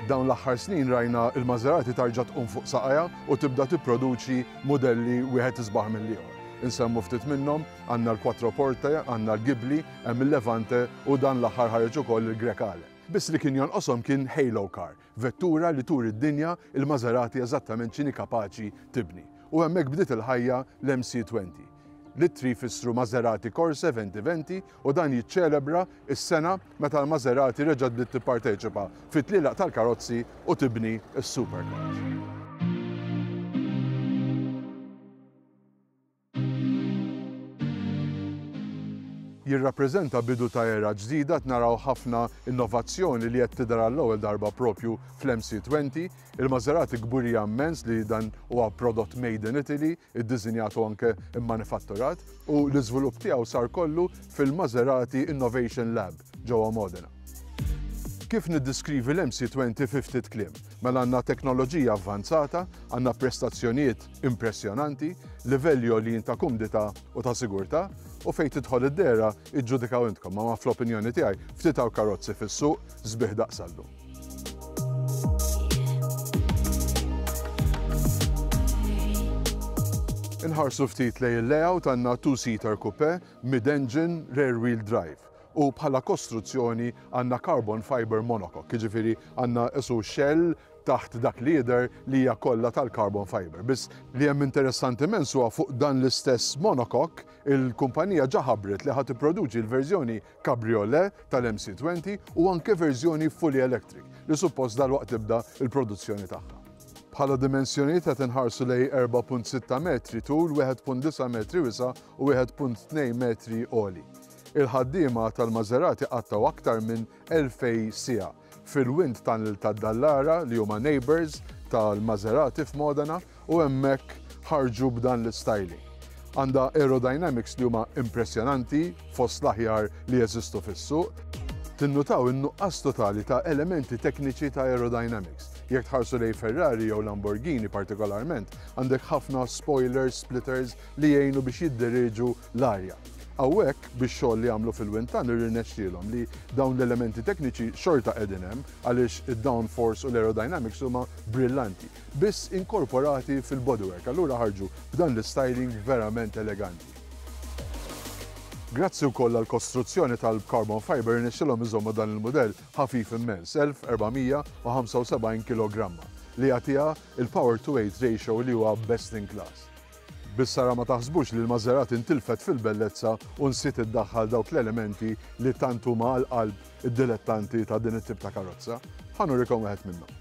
Dawn l-aħħar snin rajna il-Maserati tarġa' tqum fuq saqajha u tibda tipproduċi mudelli wieħed isbaħ mill-ieħor. Insemmu ftit minnhom, għandna l-Quattroporte, għandna l-Ghibli, hemm il-Levante u dan l-aħħar ħareġ ukoll il-Grecale. Biss li kien jonqoshom kien Halo Car, vettura li turi d-dinja il-Maserati eżattament x'inhi kapaċi tibni. U hemmhekk bdiet il-ħajja l-MC20. L-ittri jfissru Maserati Corse 2020 u dan jiċċelebra s-sena meta l-Maserati reġgħet bdiet tipparteċipa fit-tlielaq tal-karozzi u tibni s-supercars. Jirrappreżenta bidu ta' era ġdida, qed naraw ħafna innovazzjoni li qed tidher għall-ewwel darba propju fl-MC20. Il-Maserati kburija immens li dan huwa prodott made in Italy, iddisinjat u anke immanifatturat, u l-iżvilupp tiegħu sar kollu fil-Maserati Innovation Lab ġewwa Modena. Kif niddiskrivi l-MC20 fi ftit kliem? Mela għandna teknoloġija avvanzata, għandna prestazzjonijiet impressjonanti, livelli għoljin ta' kumdità u ta' sigurtà, u fejn tidħol id-dehra iġġudikaw intkom, ma fl-opinjoni tiegħi ftit hawn karozzi fis-suq sbieħ daqs għallum. Inħarsu ftit lejn il-layout għandna two-seater coupe, mid-engine, rear wheel drive. U bħala kostruzzjoni għandna carbon fiber monocoque, jiġifieri għandna isu shell taħt dak li jidher li hija kollha tal-carbon fiber. Biss li hemm interessanti immens huwa fuq dan l-istess monocoque il-kumpanija ġa ħabbret li ħa tipproduċi l-verżjoni cabriolet tal-MC20 u anke verżjoni fully electric li suppost dalwaqt tibda l-produzzjoni tagħha. Bħala dimensjonijiet qed inħarsu lejn 4.6 metri tul, 1.9 metri wisa' u 1.2 metri għoli. Il-ħaddiema tal-Maserati qattgħu aktar minn 2,000 siegħa fil-wind tunnel tad-Dallara li huma neighbours tal-Maserati f'Modena u hemmhekk ħarġu b'dan l-istyling. Għandha aerodynamics li huma impressjonanti, fost l-aħjar li jeżistu fis-suq. Tinnutaw in-nuqqas totali ta' elementi tekniċi ta' aerodynamics. Jekk tħarsu lejn Ferrari jew Lamborghini partikolarment, għandek ħafna spoilers, splitters li jgħinu biex jidderieġu l-arja. Hawnhekk, bix-xogħol li għamlu fil-wind tunnel irnexxielhom li dawn l-elementi tekniċi xorta qegħdin hemm għaliex id-downforce u l-aerodynamics huma brillanti, biss inkorporati fil-bodywork, allura ħarġu b'dan l-istyling verament eleganti. Grazzi wkoll għall-kostruzzjoni tal-carbon fiber irnexxielhom iżommu dan il-mudell ħafif immens, 1475 kilogramma, li jagħtiha il-power to weight ratio li huwa best in class. Biss ara ma taħsbux li l-Maserati ntilfet fil-bellezza u nsiet iddaħħal dawk l-elementi li tant huma għal qalb id-dilettanti ta' din it-tip ta' karozza. Ħa nurikom wieħed minnhom.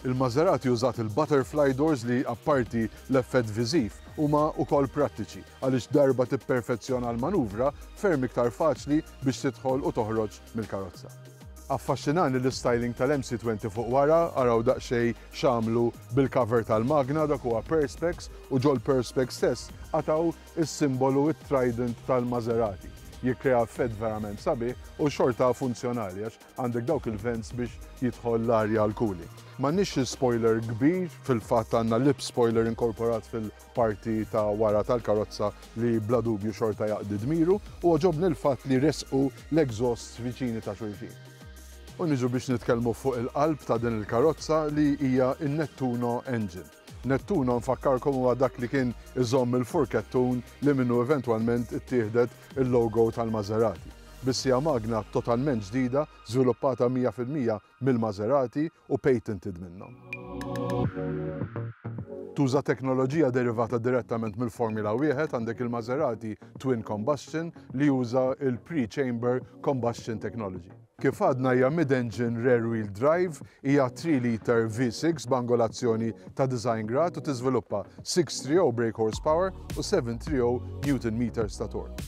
Il-Maserati użat il-butterfly doors li apparti l-effett viżiv huma wkoll prattiċi għaliex darba tipperfezzjona l-manuvra ferm iktar faċli biex tidħol u toħroġ mill-karozza. Affaxxinani l-istyling tal-MC20 fuq wara, araw daqsxejn x'għamlu bil-cover tal-magna, dak huwa perspex u ġol-perspex stess qatgħu s-simbolu it-trident tal-Maserati. Jikkrea effett verament sabiħ u xorta funzjonali għax għandek dawk il-vents biex jidħol l-arja għall-cooling. M'għandniex spoiler kbir, fil-fatt għandna lip spoiler inkorporat fil parti ta' wara tal-karozza li bla dubju xorta jaqdi dmiru u għoġobni l-fatt li ressqu l-exhausts viċini ta' xulxin. U niġu biex nitkellmu fuq il-qalb ta' din il-karozza li hija n-Nettuno Engine. Nettuno nfakkarkom huwa dak li kien iżomm il-furkettun li minnu eventwalment ittieħdet il-logo tal-Maserati. Biss hija magna totalment ġdida, żviluppata 100% mill-Maserati u patented minnhom. Tuża teknoloġija derivata direttament mill-Formula 1, għandek il-Maserati Twin Combustion li juża il-pre-chamber combustion technology. Kif għadna hija mid-engine rear wheel drive, hija 3 liter V6 b'angolazzjoni ta' design grad u tiżviluppa 630 brake horsepower u 730 newton meters ta' torque.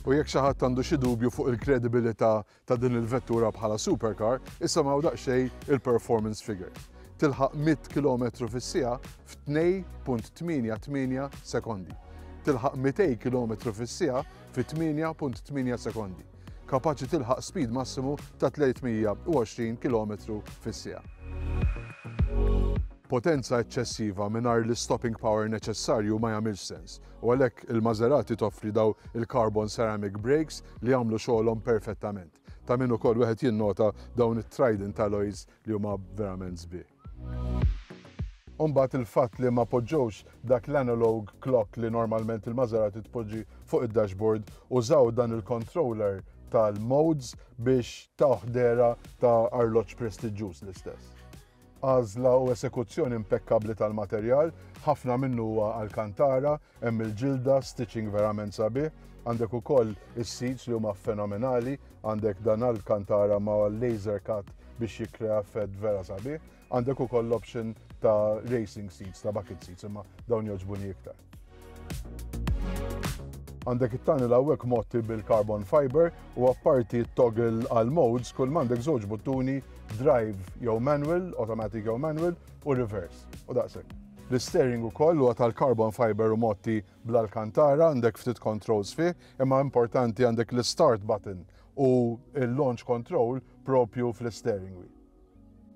U jekk xi ħadd għandu xi dubju fuq il-kredibilità ta' din il-vettura bħala supercar, isimgħu daqsxejn il-performance figures. Tilħaq 100 km fis-siegħa f'2.88 sekondi. Tilħaq 200 km fis-siegħa fi 8.8 sekondi. Kapaċi tilħaq speed massimu ta' 320 km fis-siegħa. Potenza eċċessiva mingħajr l-istopping power neċessarju ma jagħmilx sens. U għalhekk il-Maserati toffri daw il-carbon ceramic brakes li jagħmlu xogħolhom perfettament. Ta' min ukoll wieħed jinnota dawn it-Trident alloys li huma verament sbieħ. Umbagħad il-fatt li ma poġġewx dak l-analog clock li normalment il-Maserati tpoġġi fuq id-dashboard, użaw dan il-controller tal-modes biex tawh dehra ta' arloġġ prestiġġuż l-istess. Għażla u esekuzzjoni impekkabbli tal-materjal, ħafna minnu huwa Alcantara, hemm il-ġilda, stitching verament sabiħ, għandek ukoll is-seats li huma fenomenali, għandek dan Alcantara ma' laser cut biex jikkrea effett vera sabiħ. Għandek ukoll l-option ta' racing seats, ta' bucket seats, imma dawn jogħġbuni iktar. Għandek it-tunnel hawnhekk motti bil-carbon fiber u apparti toggle għal modes kull m'għandek żewġ buttuni drive jew manual, automatic jew manual u reverse. U daqshekk. L-steering ukoll huwa tal-carbon fiber u motti bl-Alcantara, għandek ftit controls fih, imma importanti għandek l-start button u l-launch control propju fl-steering wheel.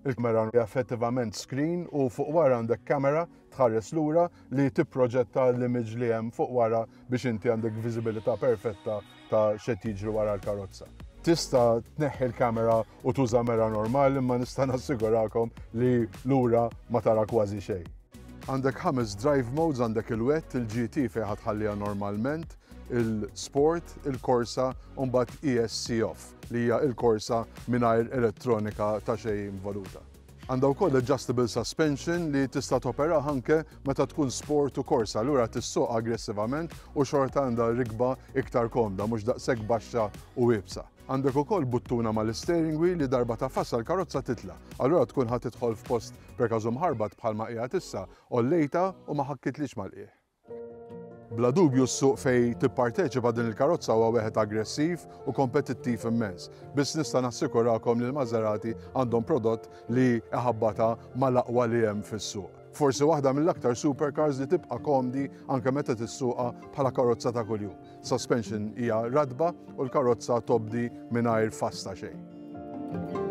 Il-kamera hija effettivament screen u fuq wara għandek kamera tħares lura li tipproġetta l-image li hemm fuq wara biex inti għandek viżibilità perfetta ta' x'qed jiġri wara l-karozza. Tista' tneħħi l-kamera u tuża mera normali imma nista' nassigurakom li lura ma tara kważi xejn. Għandek ħames drive modes, għandek il-wet, il-GT fejn ħa tħalliha normalment, il-sport, il-korsa u mbagħad ESC off li hija il-korsa mingħajr elettronika ta' xejn involuta. Għandha wkoll adjustable suspension li tista' topera anke meta tkun sport u korsa, allura tissuq aggressivament u xorta għandha rikba iktar komda, mhux daqshekk baxxa u iebsa. Għandek ukoll buttuna mal-steering wheel li darba tagħfasha l-karozza titla'. Allura tkun ħa tidħol f'post per każu mħarbat bħalma qiegħed issa, għollejtha u ma ħakkitlix mal-qiegħ. Bla dubju s-suq fej tipparteċipa din il-karozza huwa wieħed aggressiv u kompetittiv immens. Biss nista' nassikurakom li l-Maserati għandhom prodott li iħabbata mal-aqwa li hemm fis-suq. Forsi waħda mill-aktar supercars li tibqa' komdi anke meta tissuqa bħala karozza ta' kuljum. Suspension hija ratba u l-karozza tobdi mingħajr fuss ta' xejn.